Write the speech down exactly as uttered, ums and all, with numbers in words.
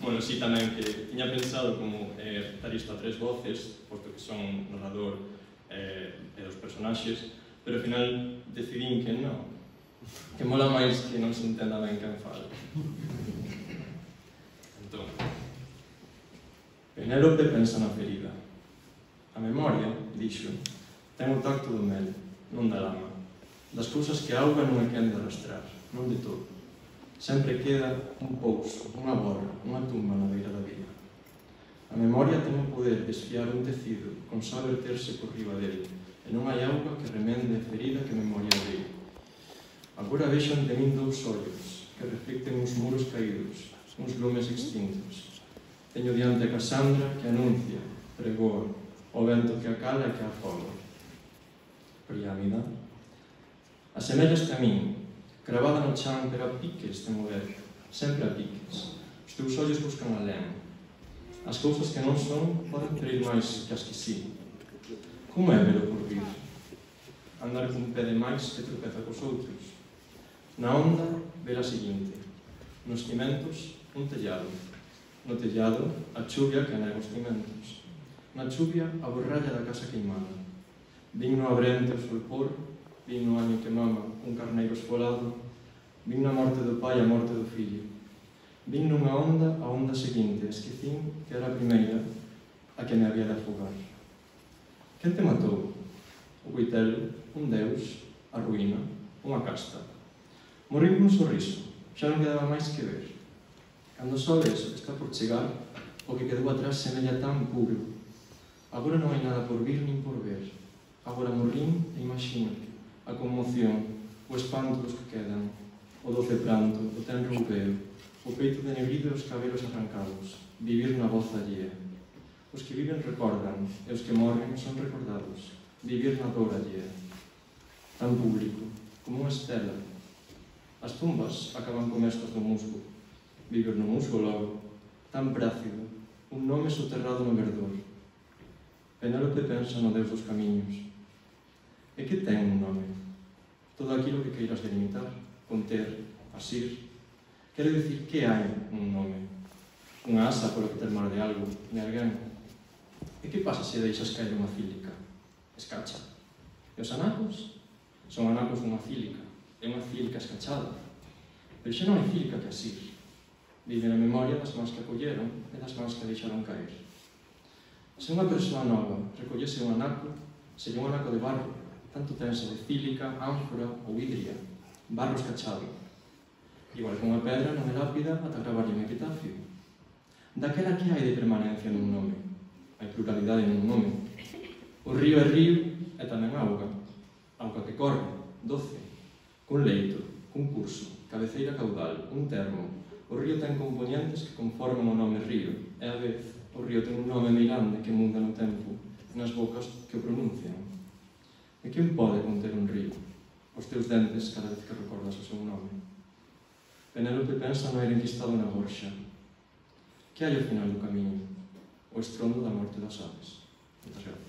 bueno, sí tamén que tiña pensado como eh, dar isto a tres voces, posto que son narrador eh, e dos personaxes, pero ao final decidín que non, que mola máis que non se entenda ben quen fala. Entón, Penélope pensa na ferida. A memoria, dixo, ten o tacto do mel, non da lama, das cousas que a auga non é quen de arrastrar, non de todo. Sempre queda un pouso, unha borra, unha tumba na beira da vía. A memoria ten o poder de esfiar un tecido con só verterse por riba dele, e non hai auga que remende a ferida que a memoria abriu. Agora vexo ante min dous ollos que reflicten uns muros caídos, uns lumes extintos. Teño diante a Casandra que anuncia, pregoa, o vento que a cala e que a afoga. Priámida. Asemellaste a min, cravada no chan, pero a piques de mover, sempre a piques. Os teus ollos buscan alén. As cousas que non son poden ferir máis que as que sí. Como é velo por vir? Andar cun pé de máis que tropeza cos outros. Na onda, ver a seguinte. Nos cimentos, un tellado. No tellado, a chuvia que anega os cimentos. Na chuvia, a borralla da casa queimada. Vin no abrente o solpor, vin no año que mama un carneiro esfolado, vin na morte do pai a morte do fillo. Vin nunha onda a onda seguinte, esquecín que era a primeira a que me había de afogar. Quen te matou? O coitelo, un deus, a ruína, unha casta. Morrín cun sorriso, xa non quedaba máis que ver. Cando só ves o que está por chegar, o que quedou atrás semella tan puro. Agora non hai nada por vir nin por ver. Agora morrín e imagínate a conmoción, o espanto dos que quedan, o doce pranto, o tenro roupeo, o peito denegrido e os cabelos arrancados, vivir na voz allea. Os que viven recordan, e os que morren son recordados, vivir na dor allea. Tan público, como unha estela. As tumbas acaban con mestas do musgo, vivir no musgo logo, tan prácido, un nome soterrado no verdor. Penélope pensa no Deus dos camiños. E que ten un nome? Todo aquilo que queiras delimitar, conter, asir. Quere dicir que hai un nome. Unha asa polo que ter mar de algo, de alguén. E que pasa se deixas caer unha cílica? Escacha. E os anacos? Son anacos dunha cílica. É unha cílica escachada. Pero xa non hai cílica que asir. Vive na memoria das mans que acolleron e das mans que deixaron caer. Se unha persoa nova recollese un anaco, sería un anaco de barro, tanto tense de cílica, ánfora ou hidria, barro escachado. Igual que unha pedra non é lápida ata gravarlle un epitafio. Daquela que hai de permanencia nun nome? Hai pluralidade nun nome. O río é río e tamén auga. Auga que corre, doce, cun leito, cun curso, cabeceira caudal, un termo. O río ten componentes que conforman o nome río, e a vez o río ten un nome meirande que muda no tempo, nas bocas que o pronuncian. E quen pode conter un río? Os teus dentes cada vez que recordas o seu nome. Penélope pensa no aire enquistado na gorxa. Que hai ao final do camiño? O estrondo da morte das aves. Moitas gracias.